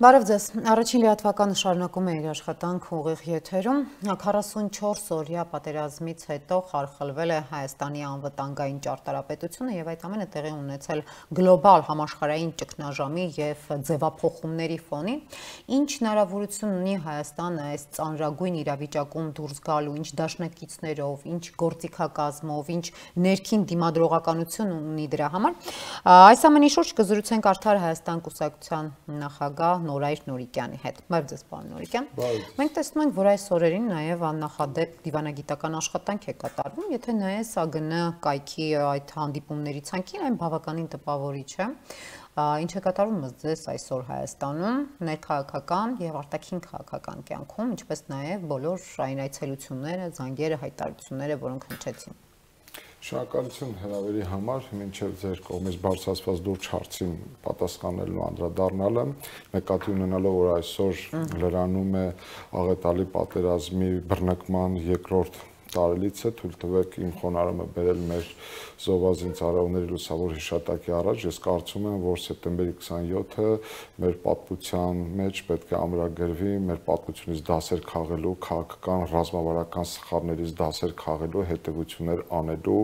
Բարև ձեզ, առաջին լիատվականը շարունակում է իր աշխատանք ուղիղ եթերում, 44 օրյա պատերազմից հետո խարխլվել է Հայաստանի անվտանգային ճարտարապետությունը և այդ ամենը տեղի ունեցել գլոբալ համաշխարհային ճգնաժամի և ձևափոխումների ֆոնին, ինչ հնարավորություն ունի Հայաստանը այս ծանրագույն իրավիճակում դուրս գալու, ինչ դաշնակիցներով, ինչ գործիքակազմով, ինչ ներքին դիմադրողականություն ունի դրա համար։ Այս ամենի շուրջ կզրուցենք Արդար Հայաստան կուսակցության նախագահ Նորայր Նորիկյանի հետ։ Բարև ձեզ, պարոն Նորիկյան։ Մենք տեսնում ենք, որ այս օրերին նաև աննախադեպ դիվանագիտական աշխատանք է կատարվում, եթե նայես ԱԳՆ կայքի այդ հանդիպումների ցանկին, այն բավականին տպավորիչ է։ Ինչ է կատարվում ձեզ այսօր Հայաստանում, ներքաղաքական և արտաքին քաղաքական կյանքում, ինչպես նաև բոլոր այն այցելությունները, զանգերը, հայտարարությունները, որոնք հնչեցին։ Շնորհակալություն հրավերի համար, մինչև ձեր կողմից բարձրացված լուրջ հարցին պատասխանելու անդրադառնալը, նկատի ունենալով, որ այսօր լրանում է աղետալի պատերազմի բռնկման երկրորդ տարելիցը, թույլ տվեք իմ խոնարհումը բերել մեր զովազին ծառայողների լուսավոր հիշատակի առաջ, ես կարծում եմ, որ սեպտեմբերի 27-ը մեր պատմության մեջ պետք է ամրագրվի մեր պատմությունից դասեր քաղելու, քաղաքական, ռազմավարական սխալներից դասեր քաղելու, հետևություններ անելու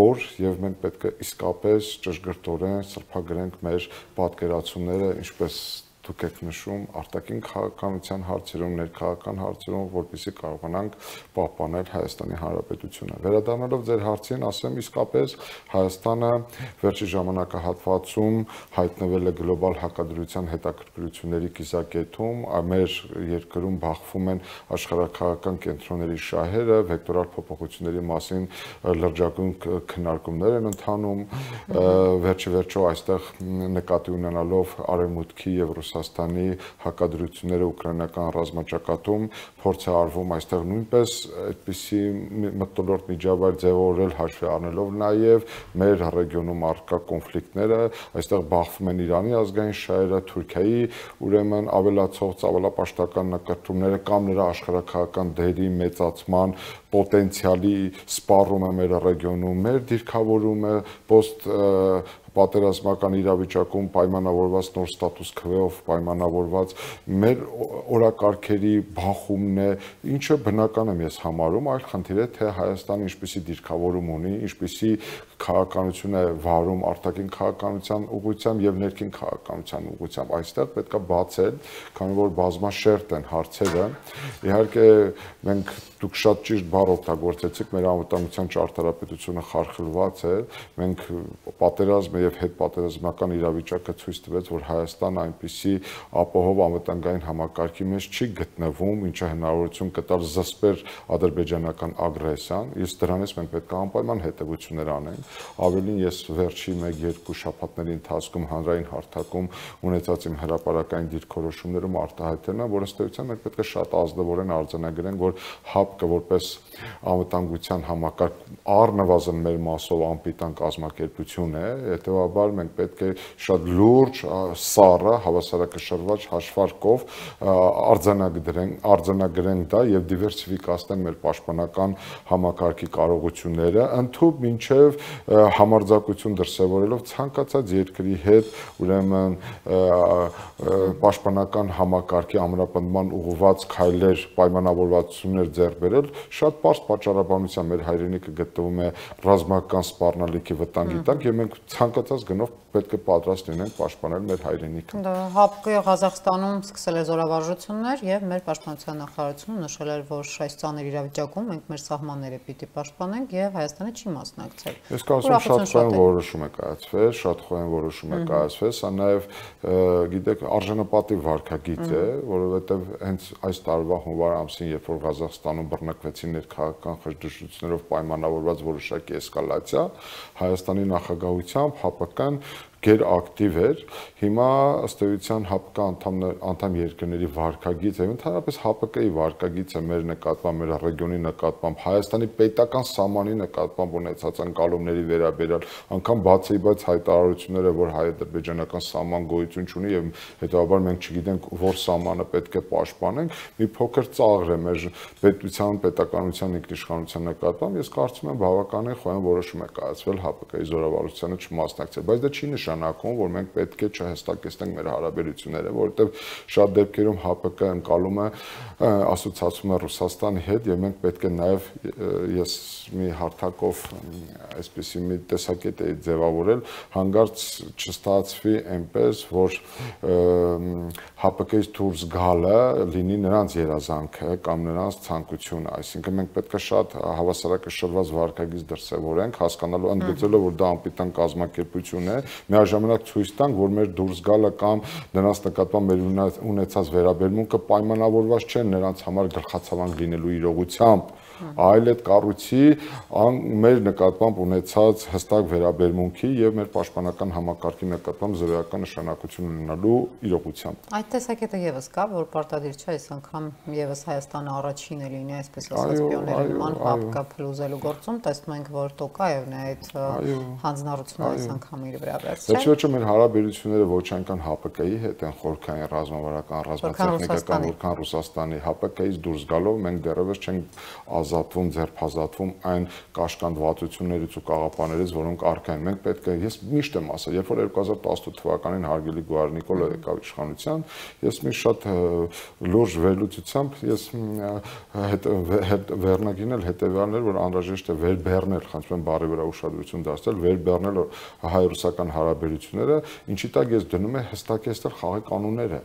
օր, եւ մենք պետք է իսկապես ճշգրտորեն սրբագրենք մեր պատկերացումները, ինչպես դուք եք նշում, արտաքին քաղաքականության հարցերում, ներքաղաքական հարցերում, որպեսզի կարողանանք պահպանել Հայաստանի Հանրապետությունը։ Վերադառնալով ձեր հարցին, ասեմ, իսկապես Հայաստանը վերջի ժամանակահատվածում հայտնվել է գլոբալ հակադրության հետաքրքրությունների կիզակետում, մեր երկրում բախվում են աշխարհաքաղաքական կենտրոնների շահերը, վեկտորալ փոփոխությունների մասին լրջագույն քննարկումներ են ընթանում, վերջիվերջո այստեղ նկատի ունենալով արևմուտքի եւ Ռուսաստանի հակադրությունները ուկրաինական ռազմաճակատում փորձ է արվում այստեղ նույնպես այդպիսի մթնոլորտ միջավայր ձևավորել հաշվի առնելով նաև մեր ռեգիոնում առկա կոնֆլիկտները, այստեղ բախվում են Իրանի ազգային շահերը, Թուրքիայի ուրեմն ավելացող ծավալապաշտական նկրտումները կամ նրա աշխարհաքաղաքական դերի մեծացման պոտենցիալի սպառումը մեր ռեգիոնում, մեր դիրքավորումը post պատերազմական իրավիճակում պայմանավորված նոր ստատուս քվեով պայմանավորված մեր օրակարգերի բախումն է, ինչը բնական եմ ես համարում, այլ խնդիր է, թե Հայաստանը ինչպիսի դիրքավորում ունի, ինչպիսի քաղաքականություն է վարում արտաքին քաղաքականության ուղղությամբ եւ ներքին քաղաքականության ուղղությամբ, այստեղ պետք է բացել, քանի որ բազմաշերտ են հարցերը, իհարկե մենք դուք շատ ճիշտ բառ օգտագործեցիք, մեր անվտանգության ճարտարապետությունը խարխլված է, մենք պատերազմը եւ հետպատերազմական իրավիճակը ցույց տվեց, որ Հայաստանը այնպիսի ապահով անվտանգային համակարգի մեջ չի գտնվում, ինչը հնարավորություն կտար զսպեր ադրբեջանական ագրեսիան, իսկ դրանից մենք պետք է անպայման հետևություններ անենք, ավելին ես վերջի 1-2 շաբաթների ընթացքում հանրային հարթակում ունեցած իմ հրապարակային դիրքորոշումներում արտահայտել եմ, որ ըստ էության մենք պետք է շատ ազնվորեն արձանագրենք, որ ՀԱՊԿ որպես անվտանգության համակարգ առնվազն մեր մասով անպիտան կազմակերպություն է, հետեւաբար մենք պետք է շատ լուրջ, սառը, հավասարակշռված հաշվարկով արձանագրենք դա եւ դիվերսիֆիկացնենք մեր պաշտպանական համակարգի կարողությունները, ընդհանուր մինչեւ համարձակություն դրսևորելով ցանկացած երկրի հետ, ուրեմն պաշտպանական համակարգի ամրապնդման ուղղված քայլեր, պայմանավորվածություններ ձեռք բերել, շատ պարզ պատճառաբանությամբ մեր հայրենիքը գտնվում է ռազմական սպառնալիքի վտանգի տակ եւ մենք ցանկացած գնով պետք է պատրաստ լինենք պաշտպանել մեր հայրենիքը։ ՀԱՊԿ-ը Ղազախստանում սկսել է զորավարժություններ եւ մեր պաշտպանության նախարարությունը նշել էր, որ այս ծանր իրավիճակում մենք մեր սահմանները պիտի պաշտպանենք եւ Հայաստանը չի մասնակցել։ Ես կարծում եմ շատ խոհեն որոշում է կայացվել, շատ խոհեն որոշում է կայացվել, սա նաեւ գիտեք արժանապատիվ վարքագիծ է, որովհետեւ հենց այս տարվա հունվար ամսին, երբ որ Ղազախստանում բռնկվեցին ներքաղաքական խժդժություններով պայմանավորված որոշակի էսկալացիա, Հայաստանի նախագահությամբ ՀԱՊԿ-ն գերակտիվ էր, հիմա ըստ էության ՀԱՊԿ անդամ երկրների վարքագիծ եւ ընդհանրապես ՀԱՊԿ-ի վարքագիծը մեր նկատմամբ, մեր ռեգիոնի նկատմամբ, Հայաստանի պետական սահմանի նկատմամբ ունեցած անկալումների վերաբերյալ, անգամ բացի-բաց հայտարարությունները, որ հայ-ադրբեջանական սահման գոյություն չունի եւ հետեւաբար մենք չգիտենք որ սահմանը պետք է պաշտպանենք, մի փոքր ծաղր է մեր պետության, պետականության ինքնիշխանության նկատմամբ, ես կարծում եմ բավականին խոհեն որոշում է կայացվել ՀԱՊԿ-ի զորավարությանը չմասնակցել, բայց դա չի նշանակում, որ մենք պետք է չհստակեցնենք մեր հարաբերությունները, որովհետև շատ դեպքերում ՀԱՊԿ ընկալում է ասոցիացում է Ռուսաստանի հետ եւ մենք պետք է նաեւ ես մի հարթակով այսպեսի մի տեսակետ էի ձևավորել, հանգարց չստացվի այնպես, որ ՀԱՊԿ-ից դուրս գալը լինի նրանց երազանքը կամ նրանց ցանկությունը, այսինքն մենք պետք է շատ հավասարակշռված վարքագիծ դրսևորենք, հասկանալու ընդգծելով, որ դա անպիտան կազմակերպություն է, միաժամանակ ցույց տանք, որ մեր դուրս գալը կամ նրանց նկատմամբ մեր ունեցած վերաբերմունքը պայմանավորված չէ նրանց համար գլխացավանք լինելու իրողությամբ, այլ այդ կառույցի մեր նկատմամբ ունեցած հստակ վերաբերմունքի եւ մեր պաշտպանական համակարգի նկատմամբ զրոյական նշանակություն ունենալու իրողությամբ։ Այդ տեսակետը եւս կա, որ պարտադիր չէ այս անգամ եւս Հայաստանը առաջինը լինի, այսպես ասած, պիոների նման ՀԱՊԿ փլուզելու գործում, տեսնում ենք, որ Տոկաևն է այդ հանձնառությունը այս անգամ իր վրա վերցրել։ Վերջը մեր հարաբերությունները ոչ այնքան ՀԱՊԿ-ի հետ են խորքային ռազմավարական, ռազմատեխնիկական, որքան Ռուսաստանի ՀԱՊԿ-ից դուրս գալով մենք դեռևս չենք ազատվում, ձերբազատվում այն կաշկանդվածություններից ու կաղապաներից, որոնք առկա են։ Մենք պետք է, ես միշտ եմ ասել, երբ որ 2018 թվականին հարգելի Գոհար Նիկոլը եկավ իշխանության, ես մի շատ լուրջ վերլուծությամբ ես վերնագիրն էլ հետևյալն էր, որ անհրաժեշտ է վերբեռնել, խնդրում եմ բառի վրա ուշադրություն դարձնել, վերբեռնել հայ-ռուսական հարաբերությունները, ինչի տակ ես դնում եմ հստակեցնել խաղի կանոնները։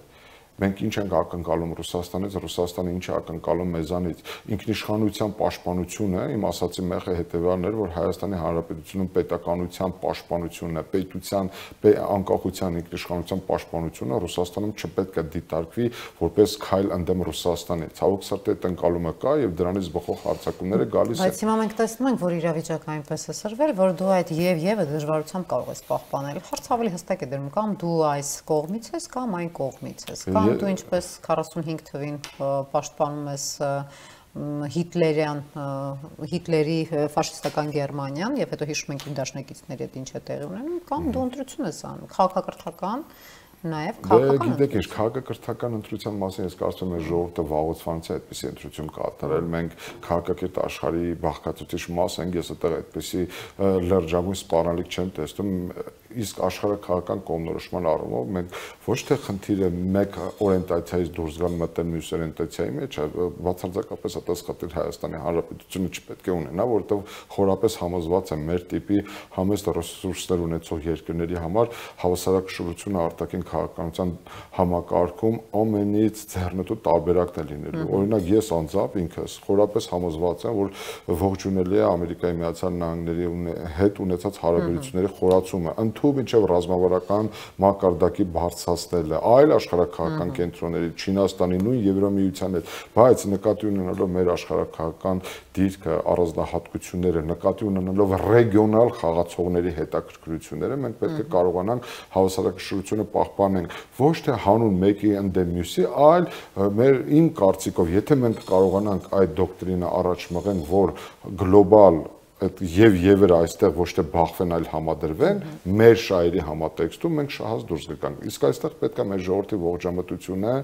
Մենք ինչ ենք ակնկալում Ռուսաստանից, Ռուսաստանը ինչ է ակնկալում մեզանից։ Ինքնիշխանության պաշտպանությունը, իմ ասացի մեղը հետևյալն էր, որ Հայաստանի Հանրապետությունում պետականության պաշտպանությունը, պետության անկախության ինքնիշխանության պաշտպանությունը Ռուսաստանում չպետք է դիտարկվի որպես քայլ ընդդեմ Ռուսաստանի։ Ցավոք սրտի այդ ընկալումը կա եւ դրանից բխող հարձակումները գալիս են։ Բայց հիմա մենք տեսնում ենք, որ իրավիճակը այնպես է սրվել, որ դու այդ եւ դժվարությամբ կարող ես պահպանել։ Հարց ավելի հստակ է դրում, կամ դու այս կողմից ես, կամ այն կողմից ես։ Դու ինչպես 45 թվին պաշտպանում ես Հիտլերի ֆաշիստական Գերմանիան եւ հետո հիշում ենք իր դաշնակիցների հետ ինչ է տեղի ունենում, կամ դու ընտրություն ես անում, քաղաքակրթական, նաեւ քաղաքական։ Գիտեք, ինչ քաղաքակրթական ընտրության մասին ես կարծում եմ ժողովուրդը վաղուց է այդպիսի ընտրություն կատարել, մենք քաղաքակիրթ աշխարհի բաղկացուցիչ մաս ենք, ես այդտեղ այդպիսի լրջագույն սպառնալիք չեմ տեսնում, իսկ աշխարհակաղակական կողմնորոշման առումով մենք ոչ թե խնդիրը մեկ օրիենտացիայից դուրս գալ մտնել մյուս օրիենտացիայի մեջ, բացարձակապես ատասխատիր Հայաստանի Հանրապետությունը չպետք է ունենա, որովհետև խորապես համոզված եմ մեր տիպի համեստ ռեսուրսներ ունեցող երկրների համար հավասարակշռությունը արտաքին քաղաքականության համակարգում ամենից ձեռնտու տարբերակն է լինելու։ Օրինակ ես անձամբ ինքս խորապես համոզված եմ, որ ողջունելի է Ամերիկայի Միացյալ Նահանգների հետ ունեցած հարաբերությունների խորացումը, մինչև ռազմավարական մակարդակի բարձրացնելը, այլ աշխարհակաղակական կենտրոնների, Չինաստանի, նույն Եվրամիության հետ, բայց նկատի ունենալով մեր աշխարհակաղակական դիրքը, առանձնահատկությունները, նկատի ունենալով ռեգիոնալ խաղացողների հետաքրքրությունները, մենք պետք է կարողանանք հավասարակշռությունը պահպանենք ոչ թե հանուն մեկի ընդդեմ մյուսի, այլ իմ կարծիքով, եթե մենք կարողանանք այդ դոկտրինը առաջ մղենք, որ գլոբալ եւ այստեղ ոչ թե բախվեն, այլ համադրվեն, մեր շահերի համատեքստում մենք շահած դուրս գանք։ Իսկ այստեղ պետք է մեր ժողովրդի ողջամտությունը,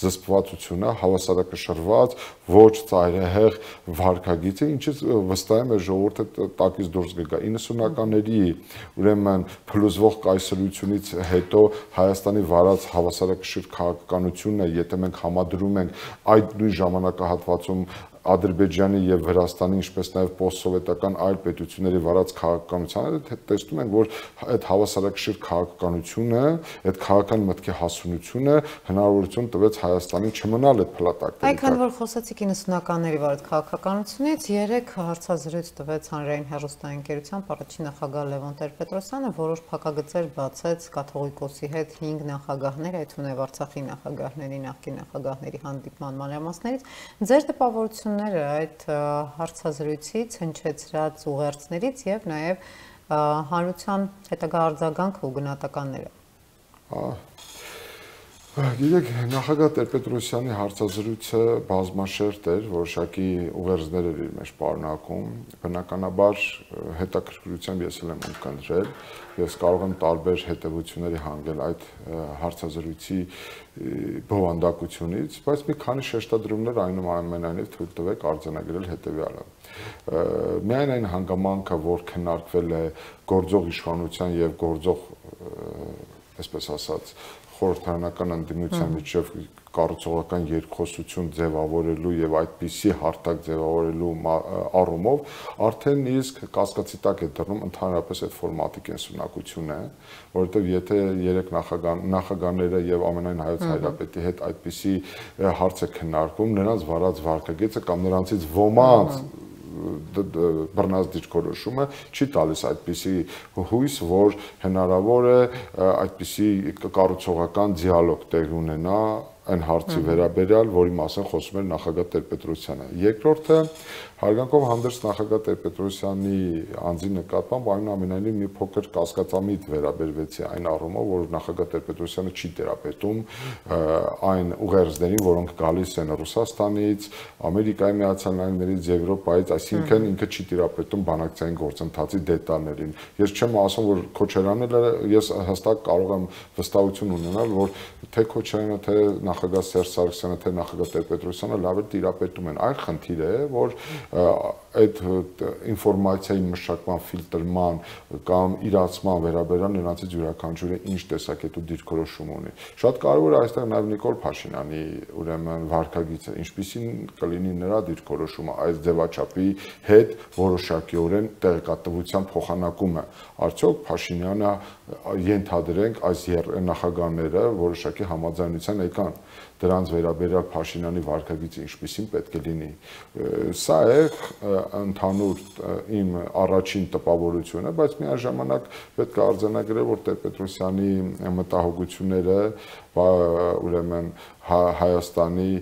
զսպվածությունը, հավասարակշռված, ոչ ծայրահեղ վարքագիծը, ինչից վստահ եմ մեր ժողովուրդը տակից դուրս կգա։ 90-ականների ուրեմն փլուզվող կայսրությունից հետո Հայաստանի վարած հավասարակշիռ քաղաքականությունը, եթե մենք համադրում ենք այդ նույն ժամանակահատվածում Ադրբեջանի եւ Վրաստանի, ինչպես նաեւ պոստսովետական այլ պետությունների վարած քաղաքականությանը, տեսնում ենք, որ այդ հավասարակշիռ քաղաքականությունը, այդ քաղաքական մտքի հասունությունը հնարավորություն տվեց Հայաստանին չմնալ այդ փլատակների տակ։ Այքան որ խոսեցիք 90-ականների վարած քաղաքականությունից, երեք հարցազրույց տվեց հանրային հեռուստաընկերությամբ առաջին նախագահ Լևոն Տեր-Պետրոսյանը, որոշ փակագծեր բացեց Կաթողիկոսի հետ 5 նախագահներ, այդ թվում է Արցախի նախագահների, նախկին նախագահների հանդիպման մանրամասներից։ Ձեր տպավորությունները այդ հարցազրույցից, հնչեցրած ուղերձներից եւ նաեւ հանրության հետագա արձագանքը ու գնահատականները։ Գիտեք, նախագահ Տեր-Պետրոսյանի հարցազրույցը բազմաշերտ էր, որոշակի ուղերձներ էր իր մեջ պարունակում, բնականաբար հետաքրքրությամբ ես եմ ունկնդրել, ես կարող եմ տարբեր հետևությունների հանգել այդ հարցազրույցի բովանդակությունից, բայց մի քանի շեշտադրումներ այնուամենայնիվ թույլ տվեք արձանագրել հետևյալը։ Միայն այն հանգամանքը, որ քննարկվել է գործող իշխանության եւ գործող այսպես ասած, խորհրդարանական ընդդիմության միջև կառուցողական երկխոսություն ձևավորելու եւ այդպիսի հարթակ ձևավորելու առումով արդեն իսկ կասկածի տակ է դրնում ընդհանրապես այդ ֆորմատի կենսունակությունը, որովհետեւ եթե երեք նախագահները եւ ամենայն հայոց հայրապետի հետ այդպիսի հարց է քննարկվում, նրանց վարած վարկագիծը կամ նրանցից ոմանց բռնած դիրքորոշումը չի տալիս այդպիսի հույս, որ հնարավոր է այդպիսի կառուցողական դիալոգ տեղի ունենա այն հարցի վերաբերյալ, որի մասին խոսում էր նախագահ Տեր-Պետրոսյանը։ Երկրորդը հարգանքով հանդերձ նախագահ Տեր-Պետրոսյանի անձի նկատմամբ այնուամենայնիվ մի փոքր կասկածամիտ վերաբերվեցի այն առումով, որ նախագահ Տեր-Պետրոսյանը չի տերապետում այն ուղերձներին, որոնք գալիս են Ռուսաստանից, Ամերիկայի Միացյալ Նահանգներից, Եվրոպայից, այսինքն ինքը չի տերապետում բանակցային գործընթացի դետալներին։ Ես չեմ ասում, որ Քոչարյանը, ես հստակ կարող եմ վստահություն ունենալ, որ թե Քոչարյանը, թե նախագահ Սերժ Սարգսյանը, թե նախագահ Տեր-Պետրոսյանը լավ է տիրապետում են։ Այլ խնդիր է, որ այդ ինֆորմացիայի մշակման, ֆիլտրման կամ իրացման վերաբերյալ նրանցից յուրաքանչյուրը ինչ տեսակետու դիրքորոշում ունի։ Շատ կարևոր է այստեղ նաև Նիկոլ Փաշինյանի ուրեմն վարկագիծը, ինչպիսին կլինի նրա դիրքորոշումը այս ձևաչափի հետ որոշակիորեն տեղեկատվության փոխանակումը։ Արդյոք Փաշինյանը ենթադրենք այս նախագահները որոշակի համաձայնության եկան դրանց վերաբերյալ Փաշինյանի վարկագիծը ինչպիսին պետք է լինի։ Սա է ընդհանուր իմ առաջին տպավորությունը, բայց միաժամանակ պետք է արձանագրել, որ Տեր-Պետրոսյանի մտահոգությունները ուրեմն Հայաստանի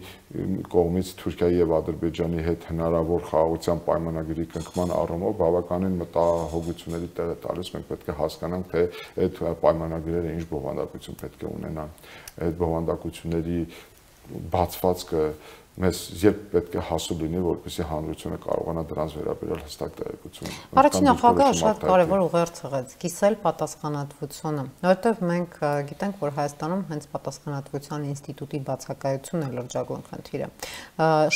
կողմից Թուրքիայի եւ Ադրբեջանի հետ հնարավոր խաղաղության պայմանագրի կնքման առումով բավականին մտահոգությունների տեղ է տալիս։ Մենք պետք է հասկանանք, թե այդ պայմանագրերը ինչ բովանդակություն պետք է ունենան։ Այդ բովանդակությունների բացվածքը մեզ երբ պետք է հասու լինի, որպեսզի հանրությունը կարողանա դրանց վերաբերյալ հստակ տեղեկություն։ Առաջին նախագահը շատ կարևոր ուղերձ եղեց՝ կիսել պատասխանատվությունը, որովհետև մենք գիտենք, որ Հայաստանում հենց պատասխանատվության ինստիտուտի բացակայությունն է լրջագույն խնդիրը։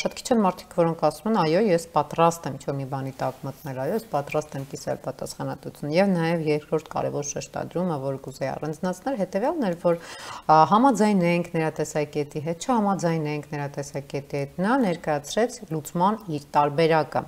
Շատ քիչ են մարդիկ, որոնք ասում են, այո, ես պատրաստ եմ ինչ-որ մի բանի տակ մտնել, այո, ես պատրաստ եմ կիսել պատասխանատվությունը։ Եվ նաև երկրորդ կարևոր շեշտադրումը, որ կուզեի առանձնացնել, հետևյալն էր, որ համաձայնենք նրա տեսակետի հետ, չհամաձայնենք նրա տեսակետի հետ, նա ներկայացրեց լուծման իր տարբերակը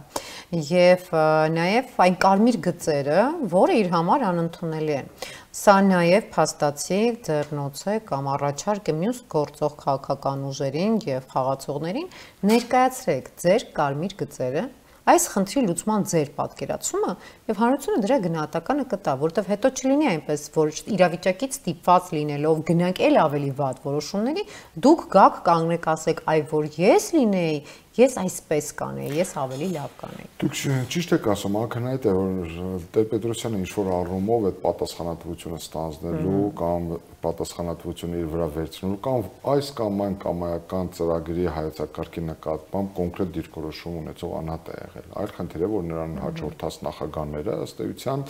եւ նաեւ այն կարմիր գծերը, որը իր համար անընդունելի են։ Սա նաեւ փաստացի ձեռնոց է կամ առաջարկ է մյուս գործող քաղաքական ուժերին եւ խաղացողներին, ներկայացրեք ձեր կարմիր գծերը, այս խնդրի լուծման ձեր պատկերացումը եւ հանրությունը դրա գնահատականը կտա, որովհետեւ հետո չլինի այնպես, որ իրավիճակից ստիպված լինելով գնանք էլ ավելի վատ որոշումների, դուք գաք կանգնեք ասեք, այ որ ես լինեի, ես այսպես կանեի, ես ավելի լավ կանեի։ Դուք ճիշտ եք ասում, ակնհայտ է, որ Տեր-Պետրոսյանը ինչ-որ առումով այդ պատասխանատվությունը ստանձնելու կամ պատասխանատվությունը իր վրա վերցնելու կամ այս կամ այն կամայական ծրագրի հայեցակարգի նկատմամբ կոնկրետ դիրքորոշում ունեցող անհատ է եղել։ Այլ խնդիր է, որ նրան հաջորդած նախագահները ըստ էության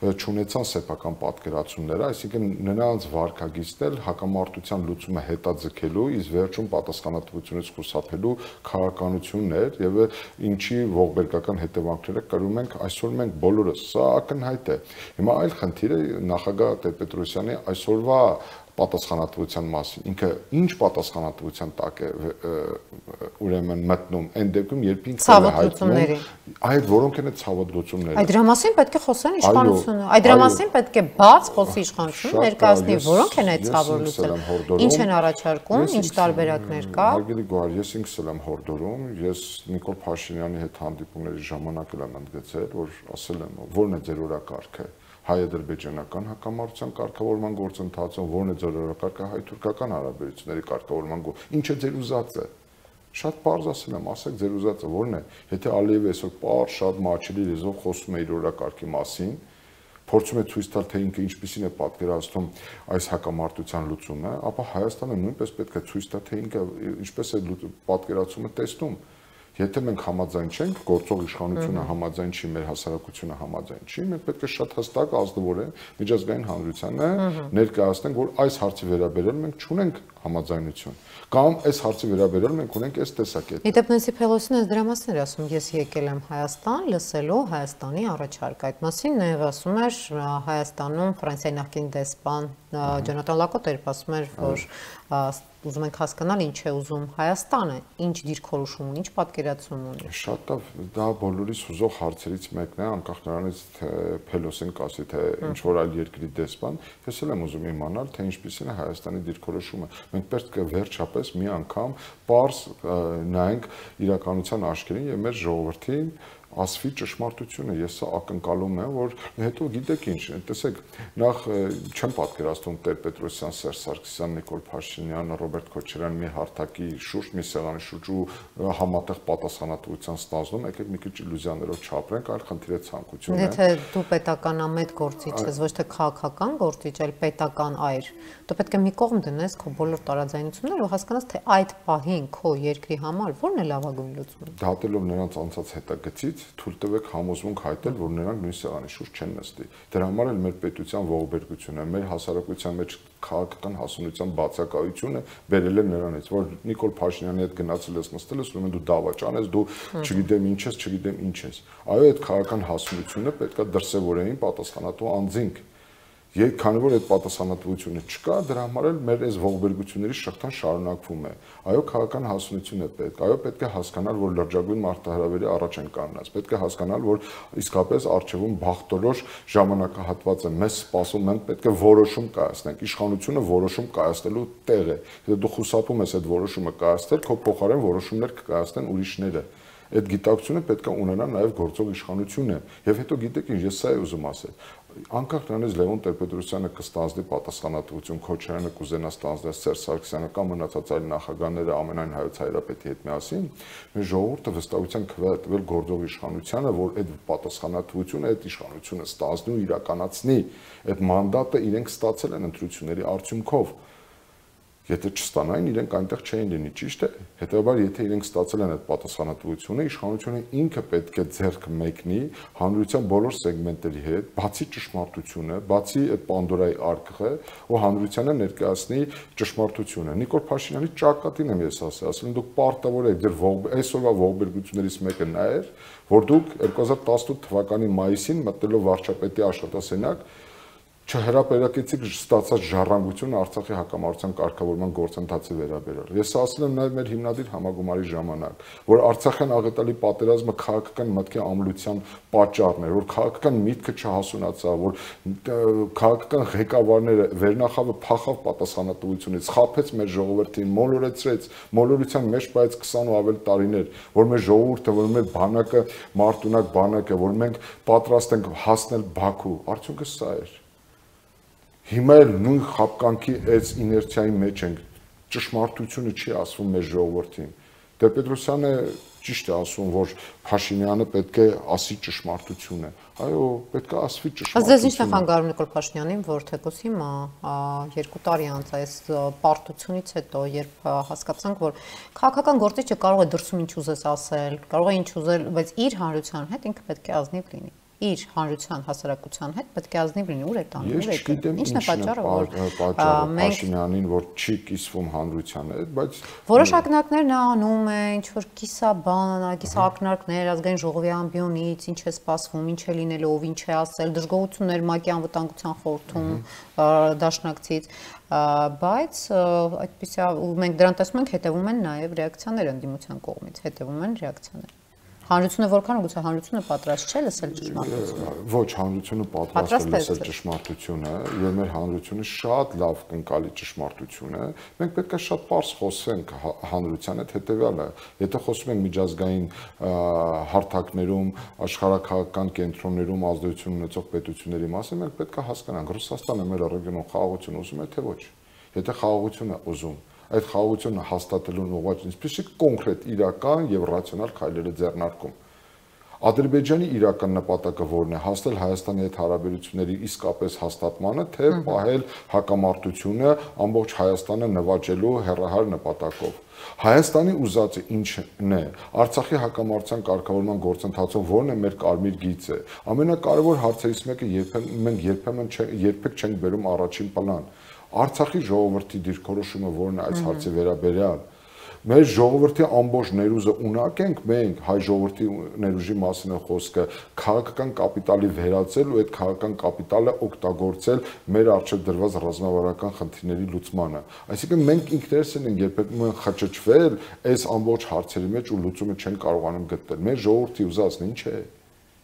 չունեցան սեփական պատկերացումները, այսինքն նրանց վարկագիծն էլ հակամարտության լուծումը հետաձգելու, իսկ վերջում պատասխանատվությունից խուսափելու քաղաքականություններ եւ ինչի ողբերգական հետևանքները կրում ենք այսօր մենք բոլորս։ Սա ակնհայտ է։ Հիմա այլ խնդիր է նախագահ Տեր-Պետրոսյանի այսօրվա պատասխանատվության մասին։ Ինքը ինչ պատասխանատվության տակ է ուրեմն մտնում այն դեպքում, երբ ինքը է հայտնում այդ որոնք են ցավոտ լուծումները։ Այդ դրա մասին պետք է խոսեն իշխանությունը։ Այդ դրա մասին պետք է բաց խոսի իշխանությունը, ներկայացնի որոնք են այդ ցավոտ լուծումները։ Ինչ են առաջարկում, ինչ տարբերակներ կա։ Հարգելի գոհար, ես ինքս էլ եմ հորդորում, ես Նիկոլ Փաշինյանի հետ հանդիպումների ժամանակ էլ եմ ընդգծել, որ ասել եմ, որն է ձեր օրակարգը։ Հայ-ադրբեջանական հակամարտության կարգավորման գործընթացում, որն է ձեր օրակարգը հայ-թուրքական հարաբերությունների կարգավորման ինչ է ձեր ուզածը։ Շատ պարզ ասել եմ, ասեք ձեր ուզածը որն է։ Եթե Ալիևը այսօր պարզ շատ մաչելի լեզվով խոսում է իր օրակարգի մասին, փորձում է ցույց տալ, թե ինքը ինչպիսին է պատկերացնում այս հակամարտության լուծումը, ապա Հայաստանը նույնպես պետք է ցույց տա, թե ինքը ինչպես է պատկերացումը տեսնում։ Եթե մենք համաձայն չենք, գործող իշխանությունը համաձայն չի, մեր հասարակությունը համաձայն չի, մենք պետք է շատ հստակ ազնվորեն միջազգային հանրությանը ներկայացնենք, որ այս հարցի վերաբերյալ մենք չունենք համաձայնություն։ Կամ այս հարցի վերաբերյալ մենք ունենք այս տեսակետը։ Իդեպ Նենսի Փելոսին այս դրա մասին էր ասում, ես եկել եմ Հայաստան լսելու Հայաստանի առաջարկը։ Այդ մասին նաև ասում էր Հայաստանում Ֆրանսիայի նախկին դեսպան Ջոնատան Լակոտ էր ասում էր, որ ուզում ենք հասկանալ ինչ է ուզում Հայաստանը, ինչ դիրքորոշում ունի, ինչ պատկերացում ունի։ Շատ դա բոլորիս հուզող հարցերից մեկն է, անկախ նրանից թե Փելոսին կասի, թե ինչ որ այլ երկրի դեսպան, ես էլ եմ ուզում իմանալ, թե ինչպիսին է Հայաստանի դիրքորոշումը։ Մենք պետք է վերջապես մի անգամ պարզ նայենք իրականության աչքերին եւ մեր ժողովրդին ասվի ճշմարտությունը, ես սա ակնկալում եմ, որ հետո գիտեք ինչ, տեսեք, նախ չեմ պատկերացնում Տեր-Պետրոսյան, Սերժ Սարգսյան, Նիկոլ Փաշինյան, Ռոբերտ Քոչարյան մի հարթակի շուրջ, մի սեղանի շուրջ ու համատեղ պատասխանատվության ստանձնում, եկեք մի քիչ իլյուզիաներով չապրենք, այլ խնդիրը ցանկություն է։ Եթե դու պետականամետ գործիչ ես, ոչ թե քաղաքական գործիչ, այլ պետական այր, դու պետք է մի կողմ դնես քո բոլոր տարաձայնությունները ու հասկանաս, թե այդ պահին քո երկրի համար ո՞րն է լավագույն լուծումը։ Դատելով նրանց անցած հետագծից թույլ տվեք համոզմունք հայտնել, որ նրանք նույն սեղանի շուրջ չեն նստի։ Դրա համար էլ մեր պետության ողբերգությունը, մեր հասարակության մեջ քաղաքական հասունության բացակայությունը բերել է նրանից, որ Նիկոլ Փաշինյանի հետ գնացել ես նստել ես, ուրեմն դու դավաճան ես, դու չգիտեմ ինչ ես, չգիտեմ ինչ ես։ Այո, այդ քաղաքական հասունությունը պետքա դրսևորեին պատասխանատու անձինք։ Քանի որ այդ պատասխանատվությունը չկա, դրա համար էլ մեր այս ողբերգությունների շղթան շարունակվում է։ Այո, քաղաքական հասունություն է պետք։ Այո, պետք է հասկանալ, որ լրջագույն մարտահրավերի առաջ են կանգնած։ Պետք է հասկանալ, որ իսկապես առջևում բախտորոշ ժամանակահատված է։ Մեզ սպասում, մենք պետք է որոշում կայացնենք։ Իշխանությունը որոշում կայացնելու տեղ է։ Եթե դու խուսափում ես այդ որոշումը կայացնել, քո փոխարեն որոշումներ կկայացնեն ուրիշները։ Այդ գիտակցությունը պետք է ունենա նաև գործող իշխանությունը։ Եվ հետո գիտեք ինչ, ես սա եմ ուզում ասել։ Անկախ նրանից Լևոն Տեր-Պետրոսյանը կստանձնի պատասխանատվություն, Քոչարյանը կուզենա ստանձնել, Սերժ Սարգսյանը կամ մնացած այլ նախագահները ամենայն հայոց հայրապետի հետ միասին, մեր ժողովուրդը վստահության քվե է տվել գործող իշխանությանը, որ այդ պատասխանատվությունը, այդ իշխանությունը ստանձնի ու իրականացնի։ Այդ մանդատը իրենք ստացել են ընտրությունների արդյունքով։ Եթե չստանային, իրենք այնտեղ չէին լինի, ճիշտ է։ Հետևաբար, եթե իրենք ստացել են այդ պատասխանատվությունը, իշխանությունը ինքը պետք է ձեռք մեկնի հանրության բոլոր սեգմենտերի հետ, բացի ճշմարտությունը, բացի այդ Պանդորայի արկղը, ու հանրությանը ներկայացնի ճշմարտությունը։ Նիկոլ Փաշինյանի ճակատին եմ ես ասել, դուք պարտավոր եք ձեր այսօրվա ողբերգություններից մեկը նա էր, որ դուք 2018 թվականի մայիսին մտնելով վարչապետի աշխատասենյակ չհրապարակեցիք ստացած ժառանգությունը Արցախի հակամարտության կարգավորման գործընթացի վերաբերյալ։ Ես ասել եմ նաև մեր հիմնադիր համագումարի ժամանակ, որ Արցախյան աղետալի պատերազմը քաղաքական մտքի ամլության պատճառն էր, որ քաղաքական միտքը չհասունացավ, որ քաղաքական ղեկավարները վերնախավը փախավ պատասխանատվությունից, խաբեց մեր ժողովրդին, մոլորեցրեց, մոլորության մեջ բայց 20 ու ավել տարիներ, որ մեր ժողովուրդը, որ մեր բանակը մարտունակ բանակ է, որ մենք պատրաստ ենք հասնել Բաքու, արդյունքը սա էր։ Հիմա էլ նույն խապկանքի այս իներցիայի մեջ ենք, ճշմարտությունը չի ասվում մեր ժողովրդին։ Տեր-Պետրոսյանը ճիշտ է ասում, որ Փաշինյանը պետք է ասի ճշմարտությունը։ Այո, պետք է ասվի ճշմարտությունը։ Ձեզ ի՞նչն է խանգարում Նիկոլ Փաշինյանին, որ թեկուզ հիմա 2 տարի անց այս պարտությունից հետո, երբ հասկացանք, որ քաղաքական գործիչը կարող է դրսում ինչ ուզես ասել, կարող է ինչ ուզել, բայց իր հանրության հետ ինքը պետք է ազնիվ լինի։ Իր հանրության հասարակության հետ պետք է ազնիվ լինի, ուր է տանում, ուր է գնում։ Ինչն է պատճառը, որ Փաշինյանին, որ չի կիսվում հանրության հետ, բայց որոշ ակնարկներ նա անում է, ինչ որ կիսաբան, կիսակնարկներ ազգային ժողովի ամբիոնից, ինչ է սպասվում, ինչ է լինելու, ով ինչ է ասել, դժգոհություններ ՄԱԿ-ի անվտանգության խորհրդում դաշնակցից, բայց այդպիսի մենք դրան տեսնում ենք հետևում են նաև ռեակցիաներ ընդդիմության կողմից, հետևում են ռեակցիաներ։ Հանրությունը որքան գուցե հանրությունը պատրաստ չէ լսել ճշմարտությունը։ Ոչ, հանրությունը պատրաստ է լսել ճշմարտությունը, եւ մեր հանրությունը շատ լավ կընկալի ճշմարտությունը։ Մենք պետք է շատ པարզ խոսենք հանրության հետ հետեւյալը։ Եթե խոսում ենք միջազգային հարթակներում, աշխարհակաղակական կենտրոններում ազդեցություն ունեցող պետությունների մասին, մենք պետք է հասկանանք Ռուսաստանը մեր ռեգիոնում խաղաղություն ուզում է, թե ոչ։ Եթե խաղաղություն է ուզում, այդ խաղաղությունը հաստատելուն ուղղված ինչպիսի կոնկրետ իրական եւ ռացիոնալ քայլեր է ձեռնարկում։ Ադրբեջանի իրական նպատակը որն է, հասնել Հայաստանի հետ հարաբերությունների իսկապես հաստատմանը, թե պահել հակամարտությունը ամբողջ Հայաստանը նվաճելու հեռահար նպատակով։ Հայաստանի ուզածը ինչն է, Արցախի հակամարտության կարգավորման գործընթացում որն է մեր կարմիր գիծը։ Ամենակարևոր հարցերից մեկը երբեք չենք բերում առաջին պլան։ Արցախի ժողովրդի դիրքորոշումը որն է այս հարցի վերաբերյալ։ Մեր ժողովրդի ամբողջ ներուժը ունակ ենք մենք հայ ժողովրդի ներուժի մասին է խոսքը քաղաքական կապիտալի վերածել ու այդ քաղաքական կապիտալը օգտագործել մեր առջև դրված ռազմավարական խնդիրների լուծմանը։ Այսինքն մենք ինքներս ենք երբեմն խճճվել այս ամբողջ հարցերի մեջ ու լուծումը չեն կարողանում գտնել։ Մեր ժողովրդի ուզածն ինչ է։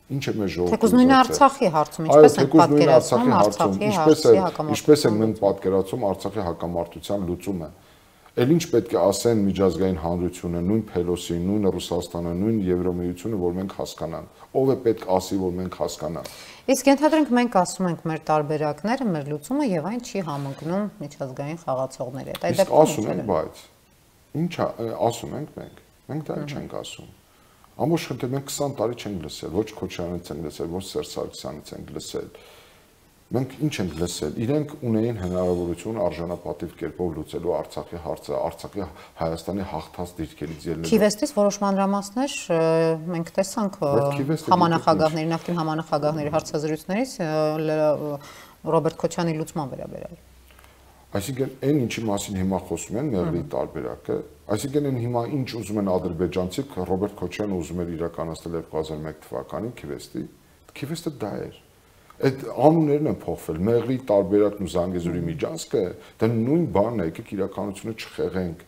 Ինչ է մեր ժողովուրդը։ Թեկուզ նույն Արցախի հարցում ինչպես են պատկերացնում Արցախի հարցի հակամարտությունը։ Ինչպես են մենք պատկերացում Արցախի հակամարտության լուծումը։ Էլ ինչ պետք է ասեն միջազգային հանրությունը, նույն Փելոսին, նույն Ռուսաստանը, նույն Եվրոմիությունը, որ մենք հասկանանք։ Ով է պետք ասի, որ մենք հասկանանք։ Իսկ ենթադրենք մենք ասում ենք մեր տարբերակները, մեր լուծումը եւ այն չի համընկնում միջազգային խաղացողների հետ։ Այդ դեպքում ասում ենք, բայց ինչ ասում ենք մենք։ Մենք դա չենք ասում։ Ամբողջ խնդիրը մենք 20 տարի չենք լսել, ոչ Քոչարյանից ենք լսել, ոչ Սերժ Սարգսյանից ենք լսել։ Մենք ինչ ենք լսել։ Իրենք ունեին հնարավորություն արժանապատիվ կերպով լուծելու Արցախի հարցը, Արցախի Հայաստանի հաղթած դիրքերից ելնելու։ Քիվեստից որոշ մանրամասներ մենք տեսանք համանախագահների, նախկին համանախագահների հարցազրույցներից Ռոբերտ Քոչյանի լուծման վերաբերյալ։ Այսինքն այն ինչի մասին հիմա խոսում են Մեղրի տարբերակը, այսինքն այն հիմա ինչ ուզում են ադրբեջանցիք, Ռոբերտ Քոչյանը ուզում էր իրականացնել 2001 թվականին Քիվեստը դա էր։ Այդ անուններն են փոխվել, Մեղրի տարբերակն ու Զանգեզուրի միջանցքը, դա նույն բանն է, եկեք իրականությունը չխեղենք։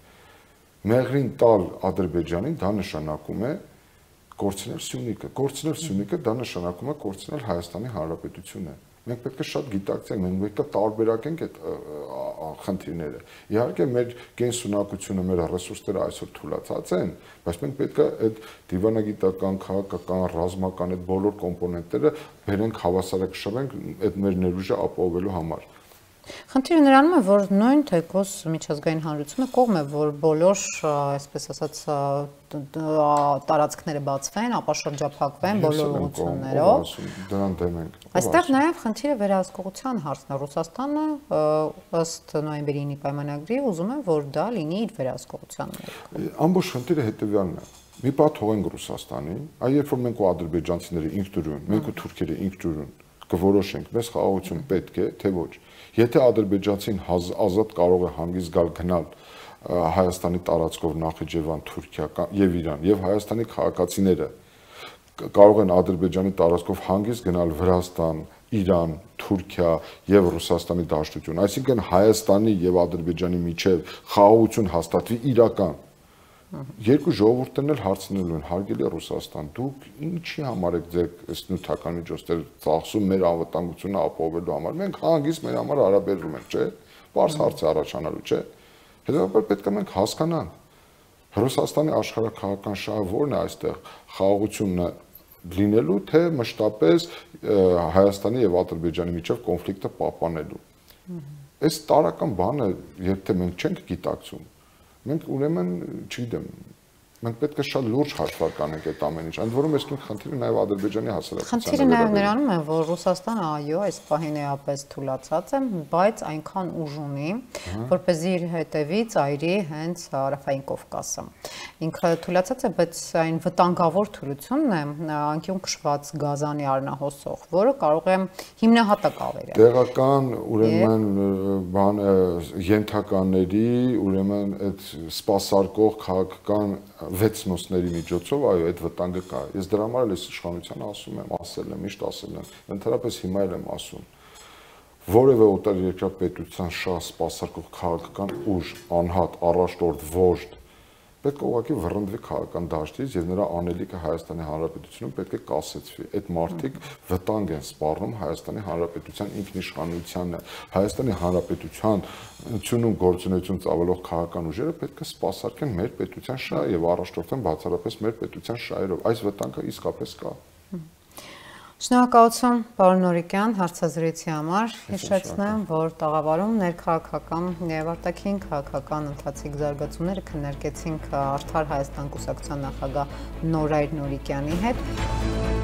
Մեղրին տալ Ադրբեջանին դա նշանակում է կորցնել Սյունիքը, կորցնել Սյունիքը դա նշանակում է կորցնել Հայաստանի Հանրապետությունը։ Մենք պետք է շատ գիտակցենք, մենք պետք է տարբերակենք այդ խնդիրները։ Իհարկե մեր կենսունակությունը, մեր ռեսուրսները այսօր թուլացած են, բայց մենք պետք է այդ դիվանագիտական, քաղաքական, ռազմական այդ բոլոր կոմպոնենտները բերենք հավասարակշռենք այդ մեր ներուժը ապահովելու համար։ Խնդիրը նրանում է, որ նույն թեկուզ միջազգային հանրությունը կողմ է, որ բոլոր, այսպես ասած, տարածքները բացվեն, ապա շրջափակվեն բոլոր ուղղություններով։ Դրան դեմ ենք։ Այստեղ նաև խնդիրը վերահսկողության հարցն է։ Ռուսաստանը ըստ նոյեմբերի 9-ի պայմանագրի ուզում է, որ դա լինի իր վերահսկողության ներքո։ Ամբողջ խնդիրը հետևյալն է։ Մի պահ թողենք Ռուսաստանին, այ երբ որ մենք ու ադրբեջանցիները ինքնուրույն, մենք ու թուրքերը ինքնուրույն կորոշենք, մեզ խաղաղություն պետք է, թե ոչ։ Եթե ադրբեջանցին ազատ կարող է հանգիստ գալ գնալ Հայաստանի տարածքով Նախիջևան, Թուրքիա եւ Իրան եւ Հայաստանի քաղաքացիները կարող են Ադրբեջանի տարածքով հանգիստ գնալ Վրաստան, Իրան, Թուրքիա եւ Ռուսաստանի դաշտություն, այսինքն Հայաստանի եւ Ադրբեջանի միջեւ խաղաղություն հաստատվի իրական։ Երկու ժողովուրդներն էլ հարցնելու են, հարգելի Ռուսաստան, դուք ինչի համար եք ձեր նյութական միջոցներ ծախսում մեր անվտանգությունը ապահովելու համար։ Մենք հանգիստ մեր համար հարաբերում ենք, չէ՞։ Պարզ հարց է առաջանալու, չէ՞։ Հետևաբար պետք է մենք հասկանանք Ռուսաստանի աշխարհաքաղաքական շահը որն է այստեղ խաղաղությունը լինելու, թե մշտապես Հայաստանի եւ Ադրբեջանի միջեւ կոնֆլիկտը պահպանելու։ Այս տարական բանը, երբ թե մենք չենք գիտակցում, մենք ուրեմն, չգիտեմ, մենք պետք է շատ լուրջ հաշվարկ անենք այդ ամեն ինչ, ընդ որում այս նույն խնդիրը նաև Ադրբեջանի հասարակությանը։ Խնդիրը նաև նրանում է, որ Ռուսաստանը այո, այս պահին էապես թուլացած է, բայց այնքան ուժ ունի, որպեսզի իր հետևից այրի հենց Հարավային Կովկասը։ Ինքը թուլացած է, բայց այն վտանգավոր թուլությունն է, անկյուն քշված գազանի առնահոսող, որը կարող է հիմնահատակ ավերել։ Տեղական ուրեմն բան ենթականների, ուրեմն այդ սպասարկող քաղաքական վեցնոսների միջոցով այո այդ վտանգը կա։ Ես դրա համար էլ այս իշխանությանը ասում եմ, ասել եմ, միշտ ասել եմ, ընդհանրապես հիմա էլ եմ ասում։ Որևէ օտարերկրյա պետության շահ սպասարկող քաղաքական ուժ, անհատ, առաջնորդ, վոժդ պետք է ուղղակի վռնդվի քաղաքական դաշտից եւ նրա անելիքը Հայաստանի Հանրապետությունում պետք է կասեցվի։ Այդ մարդիկ վտանգ են սպառնում Հայաստանի Հանրապետության ինքնիշխանությանը։ Հայաստանի Հանրապետությանությունում գործունեություն ծավալող քաղաքական ուժերը պետք է սպասարկեն մեր պետության շահը եւ առաջնորդեն բացառապես մեր պետության շահերով։ Այս վտանգը իսկապես կա։ Շնորհակալություն, պարոն Նորիկյան, հարցազրույցի համար։ Հիշեցնեմ, որ տաղավարում ներքաղաքական եւ արտաքին քաղաքական ընթացիկ զարգացումները քննարկեցինք Արդար Հայաստան կուսակցության նախագահ Նորայր Նորիկյանի հետ։